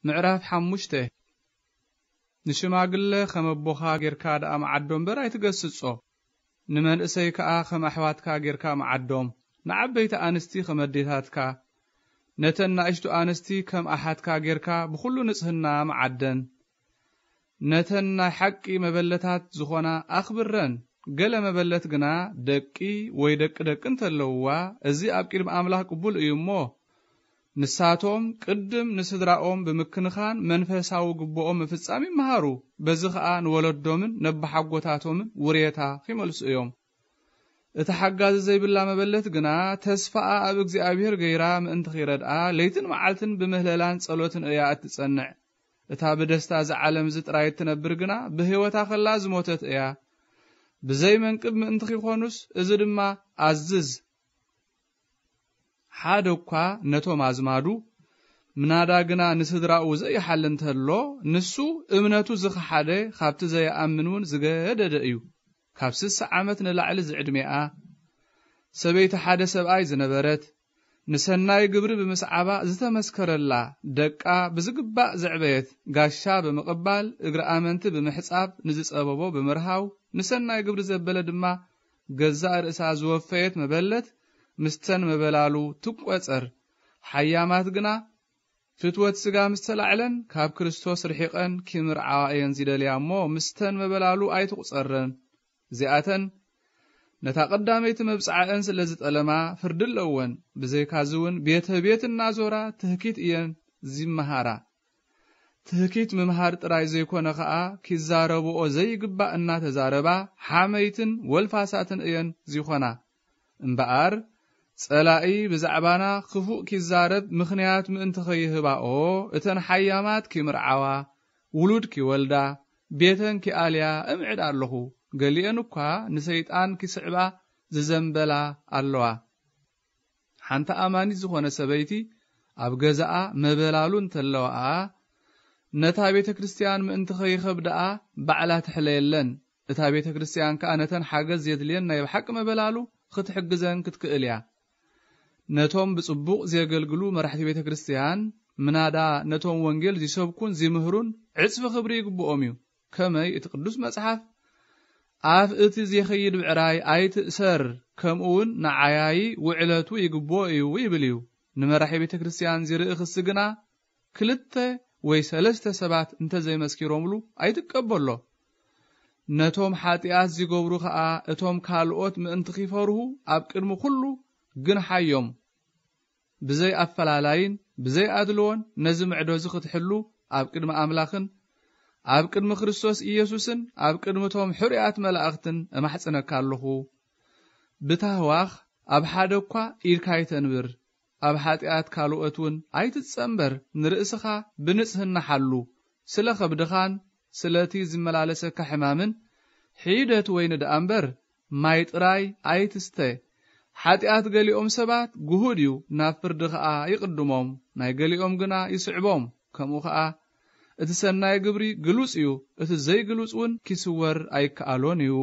ምዕራፍ ሓሙሽተ። ንሽማግለ ከም ኣቦኻ ጌርካ ደኣ መዓዶ እምበር ኣይትገስጾ። ንመንእሰይ ከኣ ከም ኣሕዋትካ ጌርካ መዓዶም። ንዓበይቲ ኣንስቲ ከም ኣዴታትካ፣ ነተን ንኣሽቱ ኣንስቲ ከም ኣሓትካ ጌርካ ብኹሉ ንጽህና መዓደን። ነተን ናይ ሓቂ መበለታት ዝኾና ኣኽብረን። ገለ መበለት ግና ደቂ ወይ ደቂ ደቂ እንተለውዋ፣ እዚ ኣብ ቅድሚ ኣምላኽ ቅቡል እዩ እሞ፣ ንሳቶም ቅድም ንስድራኦም ብምክንኻን መንፈሳዊ ግብኦም ምፍጻም ይመሃሩ። በዚ ኸኣ ንወለዶምን ነብሓጎታቶምን ውሬታ ኺመልሱ እዮም። እታ ሓጋዚ ዘይብላ መበለት ግና ተስፋኣ ኣብ እግዚኣብሔር ገይራ ምእንቲ ኺረድኣ ለይትን መዓልትን ብምህለላን ጸሎትን እያ እትጸንዕ። እታ ብደስታ እዚ ዓለም እዚ ጥራይ እትነብር ግና ብህይወታ ኸላ ዝሞተት እያ። ብዘይ መንቅብ ምእንቲ ኺኾኑስ እዚ ድማ ኣዝዝ። ሓደ እኳ ነቶም ኣዝማዱ፣ ምናዳ ግና ንስድራኡ ዘይሓሊ እንተሎ፣ ንሱ እምነቱ ዝኸሓደ፣ ካብቲ ዘይኣምን እውን ዝገደደ እዩ። ካብ ስሳ ዓመት ንላዕሊ ዝዕድሜኣ ሰበይቲ ሓደ ሰብኣይ ዝነበረት፣ ንሰናይ ግብሪ ብምስዓባ ዝተመስከረላ፣ ደቃ ብዝግባእ ዘዕበየት፣ ጋሻ ብምቕባል፣ እግሪ ኣመንቲ ብምሕጻብ፣ ንዝጸበቦ ብምርሃው፣ ንሰናይ ግብሪ ዘበለ ድማ ገዛእ ርእሳ ዝወፈየት መበለት፣ ምስተን መበላሉ ትቆጸር። ሓያማት ግና ፍትወት ስጋ ምስ ተላዕለን፣ ካብ ክርስቶስ ርሒቐን ኪምርዓዋ እየን ዝደልያ እሞ፣ ምስተን መበላሉ ኣይትቑጸረን። እዚኣተን ነታ ቀዳመይቲ መብጽዓአን ስለ ዝጠለማ ፍርዲ ኣለወን። ብዘይካዚ እውን ቤተ ቤት እናዞራ ትህኪት እየን ዚመሃራ። ትህኪት ምምሃር ጥራይ ዘይኮነ ኸኣ፣ ኪዛረብኦ ዘይግባእ እናተዛረባ ሓመይትን ወልፋሳትን እየን ዚኾና። እምበኣር፣ ጸላኢ ብዛዕባና ክፉእ ኪዛረብ ምኽንያት ምእንቲ ኸይህባኦ፣ እተን ሓያማት ኪምርዓዋ፣ ውሉድ ኪወልዳ፣ ቤተን ኪኣልያ እምዕድ ኣለኹ። ገሊኤን እኳ ንሰይጣን ኪስዕባ ዝዘንበላ ኣለዋ። ሓንቲ ኣማኒት ዝኾነ ሰበይቲ ኣብ ገዛኣ መበላሉ እንተለዋ፣ ነታ ቤተ ክርስቲያን ምእንቲ ኸይኸብድኣ ባዕላ ትሕለየለን። እታ ቤተ ክርስቲያን ከኣ ነተን ሓገዝ ዜድልየን ናይ ብሓቂ መበላሉ ኽትሕግዘን ክትክእል እያ። ነቶም ብጽቡቕ ዜገልግሉ መራሕቲ ቤተ ክርስቲያን፣ ምናዳ ነቶም ወንጌል ዚሰብኩን ዚምህሩን ዕጽፊ ክብሪ ይግብኦም እዩ። ከመይ እቲ ቅዱስ መጽሓፍ፣ "ኣፍ እቲ ዜኸይድ ብዕራይ ኣይትእሰር፣ ከምኡ እውን ንዓያዪ ውዕለቱ ይግብኦ እዩ" ይብል እዩ። ንመራሒ ቤተ ክርስቲያን ዚርኢ ክሲ ግና፣ ክልተ ወይ ሰለስተ ሰባት እንተ ዘይመስኪሮምሉ ኣይትቀበሎ። ነቶም ሓጢኣት ዚገብሩ ኸኣ፣ እቶም ካልኦት ምእንቲ ኺፈርሁ ኣብ ቅድሚ ኵሉ ግንሓዮም። ብዘይ ኣፈላላይን ብዘይ ኣድልዎን ነዚ ምዕዶ እዚ ኽትሕሉ ኣብ ቅድሚ ኣምላኽን ኣብ ቅድሚ ክርስቶስ ኢየሱስን ኣብ ቅድሚ እቶም ሕሩያት መላእኽትን እማሕጽነካ ኣለኹ። ብታህዋኽ ኣብ ሓደ እኳ ኢድካ ኣይተንብር። ኣብ ሓጢኣት ካልኦት እውን ኣይትጸንበር። ንርእስኻ ብንጽህና ሓሉ። ስለ ኸብድኻን ስለቲ ዝመላለሰካ ሕማምን ሒደት ወይኒ ደኣ እምበር ማይ ጥራይ ኣይትስተ። ሓጢኣት ገሊኦም ሰባት ግሁድ እዩ፣ ናብ ፍርዲ ኸኣ ይቕድሞም፣ ናይ ገሊኦም ግና ይስዕቦም። ከምኡ ኸኣ እቲ ሰናይ ግብሪ ግሉጽ እዩ፣ እቲ ዘይግሉጽ እውን ኪስወር ኣይከኣሎን እዩ።